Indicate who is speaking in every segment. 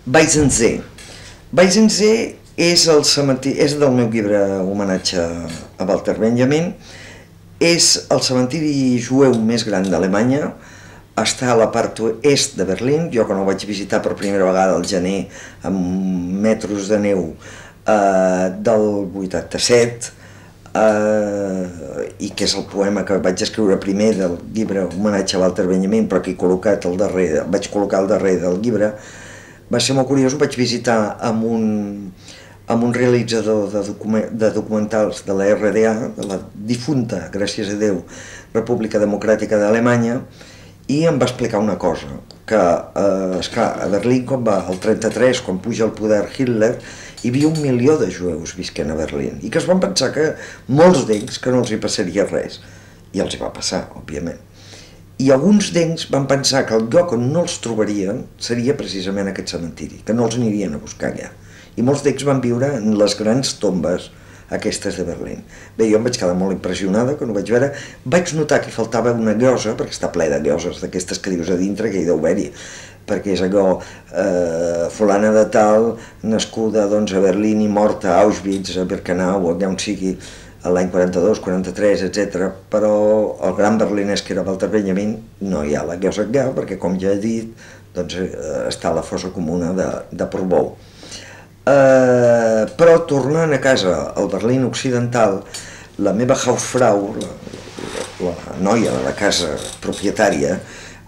Speaker 1: Weizsäcker. Weizsäcker és el cementiri, és del meu llibre homenatge a Walter Benjamin, és el cementiri jueu més gran d'Alemanya, està a la part oest de Berlín. Jo quan ho vaig visitar per primera vegada al gener amb metros de neu del 87, i que és el poema que vaig escriure primer del llibre homenatge a Walter Benjamin, però que he col·locat al darrere, vaig col·locar al darrere del llibre. Va ser molt curiós, ho vaig visitar amb un realitzador de documentals de la RDA, de la difunta, gràcies a Déu, República Democràtica d'Alemanya, i em va explicar una cosa, que esclar, a Berlín, quan va al 33, quan puja al poder Hitler, hi havia 1 milió de jueus visquent a Berlín, i que es van pensar que molts d'ells que no els hi passaria res, i els hi va passar, òbviament. I alguns d'ells van pensar que el lloc on no els trobarien seria precisament aquest cementiri, que no els anirien a buscar allà. I molts d'ells van viure en les grans tombes aquestes de Berlín. Bé, jo em vaig quedar molt impressionada quan ho vaig veure. Vaig notar que faltava una llosa, perquè està ple de lloses d'aquestes que dius a dintre, que hi deu haver-hi, perquè és allò, fulana de tal, nascuda doncs, a Berlín i morta a Auschwitz, a Birkenau, allà on sigui, l'any 42, 43, etc. Però el gran berlinès que era Walter Benjamin no hi ha la llosa allà, perquè com ja he dit, doncs, està a la fossa comuna de Portbou. Però tornant a casa al Berlín occidental, la meva Hausfrau, la noia de la casa propietària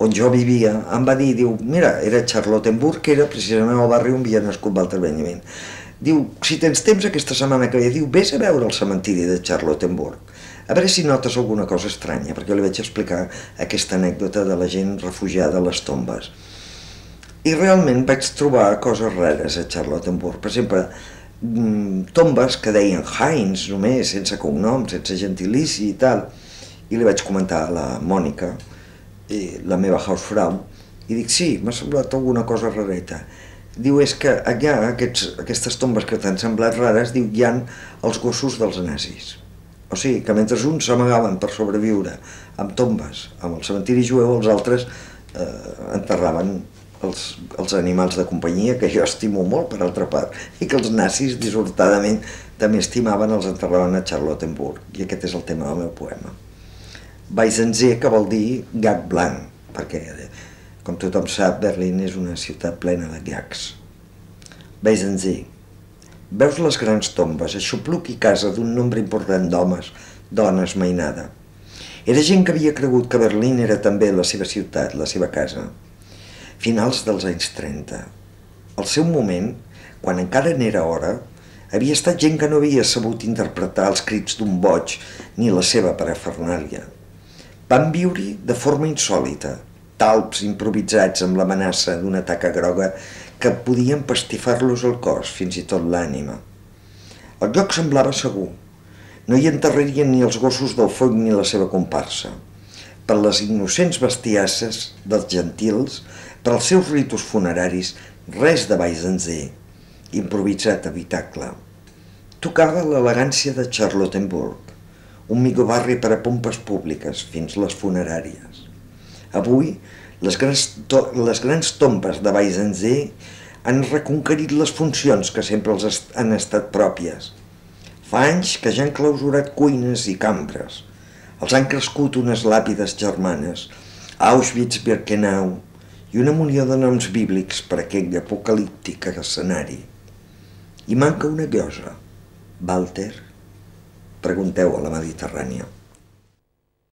Speaker 1: on jo vivia, em va dir, diu, mira, era Charlottenburg, que era precisament el barri on havia nascut Walter Benjamin. Diu, si tens temps aquesta setmana que ve, diu, vés a veure el cementiri de Charlottenburg, a veure si notes alguna cosa estranya, perquè jo li vaig explicar aquesta anècdota de la gent refugiada a les tombes. I realment vaig trobar coses rares a Charlottenburg. Per exemple, tombes que deien Heinz només, sense cognom, sense gentilici i tal. I li vaig comentar a la Mònica, la meva Hausfrau, i dic, sí, m'ha semblat alguna cosa rareta. Diu, és que allà, aquestes tombes que t'han semblat rares, diu, hi ha els gossos dels nazis. O sigui, que mentre uns s'amagaven per sobreviure amb tombes, amb el cementiri jueu, els altres enterraven els animals de companyia, que jo estimo molt, per altra part, i que els nazis, dissortadament, també estimaven, els enterraven a Charlottenburg. I aquest és el tema del meu poema. Weizsäcker, que vol dir gag blanc, perquè, com tothom sap, Berlín és una ciutat plena de gags. Weizsäcker. Veus les grans tombes, aixopluc i casa d'un nombre important d'homes, dones, mainada. Era gent que havia cregut que Berlín era també la seva ciutat, la seva casa. Finals dels anys 30. Al seu moment, quan encara n'era hora, havia estat gent que no havia sabut interpretar els crits d'un boig ni la seva parafernàlia. Van viure-hi de forma insòlita, talps improvisats amb l'amenaça d'una taca groga que podien pastifar-los el cos, fins i tot l'ànima. El lloc semblava segur. No hi enterrarien ni els gossos del foc ni la seva comparsa. Per les innocents bestiasses dels gentils, per als seus ritus funeraris, res de Weizsäcker, improvisat habitacle. Tocava l'elegància de Charlottenburg, un millor barri per a pompes públiques, fins les funeràries. Avui, les grans tombes de Weizsäcker han reconquerit les funcions que sempre els han estat pròpies. Fa anys que ja han clausurat cuines i cambres. Els han crescut unes làpides germanes, Auschwitz, Birkenau, i una munió de noms bíblics per aquell apocalíptic escenari. I manca una llosa. Walter? Pregunteu a la Mediterrània.